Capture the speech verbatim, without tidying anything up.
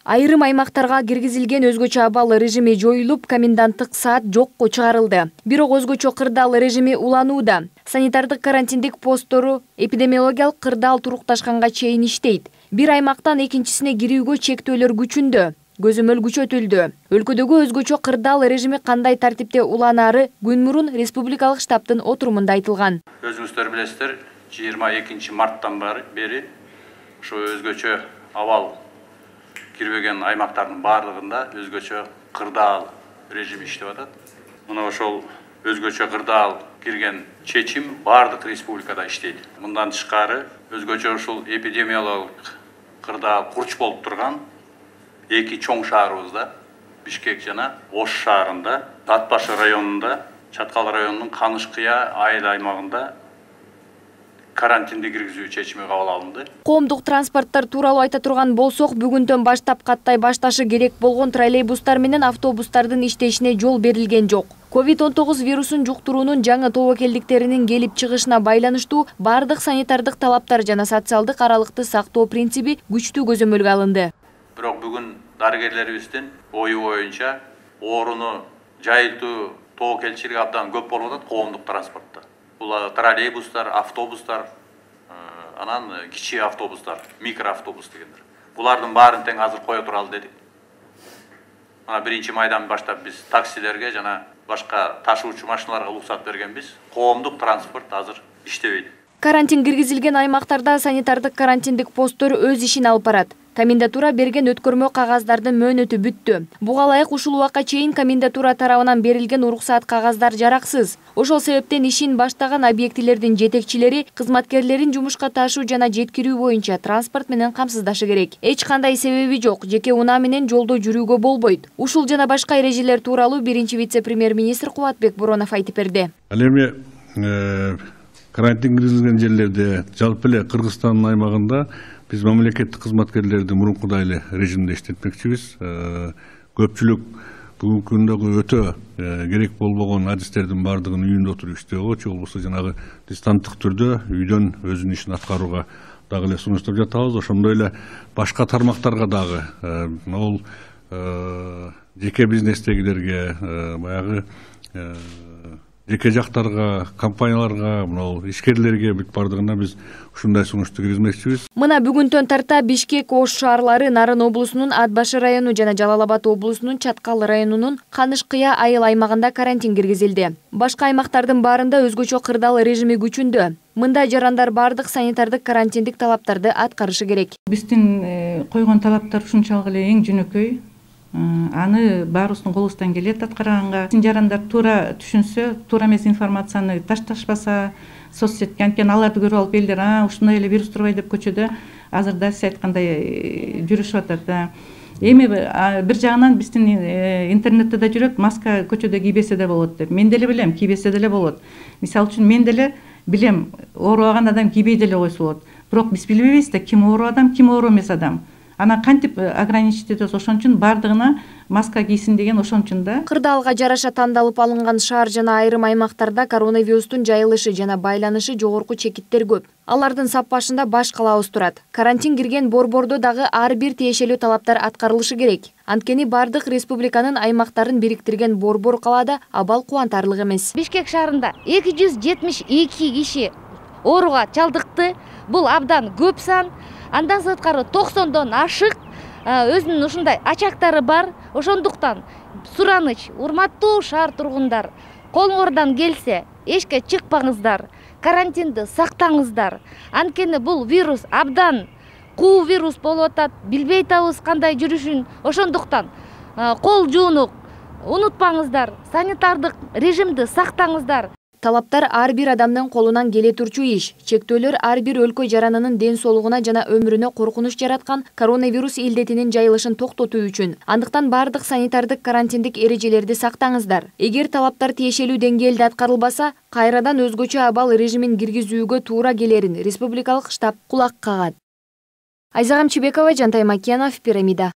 Айрым аймактарга киргизилген өзгөчө абал режими жоюлуп, коменданттык саат жокко чыгарылды. Бирок өзгөчө кырдаал режими уланууда. Санитардык карантиндик посттору эпидемиологиялык кырдаал турукташканга чейин иштейт. Бир аймактан экинчисине кирүүгө чектөөлөр күчүндө. Көзөмөл күчөтүлдү. Өлкөдөгү өзгөчө кырдаал режими кандай тартипте уланары күн мурун республикалык штабтын отурумунда айтылган. Өзүңүздөр билесиздер, жыйырма экинчи марттан бери ошо өзгөчө абал кирбеген аймактардын баардыгында өзгөчө кырдаал режим иштеп атат. Мына ошол өзгөчө кырдаал кирген чечим баардык республикада иштейт. Мындан тышкары өзгөчө ушул эпидемиологик кырдаал курч болуп турган эки чоң шаарыбызда, Бишкек жана Ош шаарында, Ат башы районунда, Чаткал районунун Каныш-Кыя айыл аймагында карантинди киргизүү чечими кабыл алынды. Коомдук транспорттор тууралуу айта турган болсок, бүгүндөн баштап каттай башташы керек болгон троллейбустар менен автобустардын иштешине жол берилген жок. ковид он тогуз вирусун жуктуруунун жаңы тобокелдиктеринин келип чыгышына байланыштуу бардык санитардык талаптар жана социалдык аралыкты сактоо принциби күчтүү көзөмөлгө алынды. Бирок бүгүн дарыгерлерибиздин ою боюнча орууну жайылтуу тобокелчилиги абдан көп болуп атат коомдук транспортто. Бул троллейбустар, автобустар, анан кичи автобустар, микроавтобус дегендер. Булардын баарын тең азыр кое туралы дедик. Мына биринчи майдан баштап биз таксилерге жана башка ташуучу машиналарга уруксат бергенбиз. Коомдук транспорт азыр иштебейт. Карантин киргизилген аймактарда санитардык карантиндик посттор өз ишин алып барат. Комендатура берген өткөрмө кагаздардын мөөнөтү бүттү. Буга ылайык ушул убакка чейин комендатура тарабынан берилген уруксат кагаздар жараксыз. Ошол себептен ишин баштаган объектилердин жетекчилери кызматкерлерин жумушка ташуу жана жеткирүү боюнча транспорт менен камсыздашы керек. Эч кандай себеби жок, жеке унаа менен жолдо жүрүүгө болбойт. Ушул жана башка эрежелер тууралуу биринчи вице-премьер-министр Кубатбек Боронов айтып берди. Ал эми карантин киргизилген жерлерде, жалпы эле Кыргызстандын аймагында биз мамлекеттик кызматкерлерди мурункудай эле режимде иштетмекчибиз. Көпчүлүк бүгүнкү күндөгү өтө керек болбогон адистердин баардыгын үйүндө отуруп иштөөгө, же болбосо жанагы дистанттык түрдө үйдөн өзүнүн ишин аткарууга дагы эле сунуштап жатабыз. Ошондой эле башка тармактарга дагы могул жеке бизнестегилерге, баягы жеке жактарга, компанияларга, мына ишкерлерге бүт бардыгына биз ушундай сунушту киргизмекчибиз. Мына бүгүнтөн тарта Бишкек, Ош шаарлары, Нарын облусунун Ат башы району жана Жалал Абад облусунун Чаткал районунун Каныш-Кыя айыл аймагында карантин киргизилди. Башка аймактардын баарында өзгөчө кырдаал режими күчүндө. Мындай жарандар бардык санитардык карантиндик талаптарды аткарышы керек. Биздин койгон талаптар ушунчалык эле эң жөнөкөй. Аны баарыбыздын колубуздан келет аткарганга. Жарандар туура түшүнсө, туура эмес информацияны ташташпаса, соцсетке анткени аларды көрүп алып элдер, а ушундай эле вирус турбайбы деп көчөдө азыр да сиз айткандай жүрүшүп атат. Эми бир жагынан биздин интернетте да жүрөт, маска көчөдө кийбесе да болот деп. Мен деле билем, кийбесе деле болот. Мисалы үчүн мен деле билем, оорубаган адам кийбей деле койсо болот. Бирок биз билбейбиз да ким оору адам, ким оору эмес адам. Ана кантип ограничить этебиз, ошон үчүн бардыгына маска кийсин деген ошон үчүн да. Кырдаалга жараша тандалып алынган шаар жана айрым аймактарда коронавирустун жайылышы жана байланышы жогорку чекиттер көп. Алардын сап башында баш калаабыз турат. Карантин кирген борбордо дагы ар бир тиешелүү талаптар аткарылышы керек. Анткени бардык республиканын аймактарын бириктирген борбор калаада абал кубантарлык эмес. Бишкек шаарында эки жүз жетимиш эки киши ооруга чалдыкты. Бул абдан көп сан. Андан сырткары токсондон ашык өзүнүн ушундай ачактары бар. Ошондуктан сураныч, урматтуу шаар тургундар, колуңордон келсе эчке чыкпаңыздар, карантинди сактаңыздар. Анткени бул вирус абдан куу вирус болуп атат, билбей атабыз кандай жүрүшүн. Ошондуктан кол жууну унутпаңыздар, санитардык режимди сактаңыздар. Талаптар ар бир адамдын колунан келе турчу иш. Чектөөлөр ар бир өлкө жаранынын ден соолугуна жана өмүрүнө коркунуч жараткан коронавирус илдетинин жайылышын токтотуу үчүн. Андыктан бардык санитардык карантиндик эрежелерди сактаңыздар. Эгер талаптар тиешелүү деңгээлде аткарылбаса, кайрадан өзгөчө абал режимин киргизүүгө туура келерин республикалык штаб кулак кагат. Айзагам Чебекова, Жантай Макенов, Пирамида.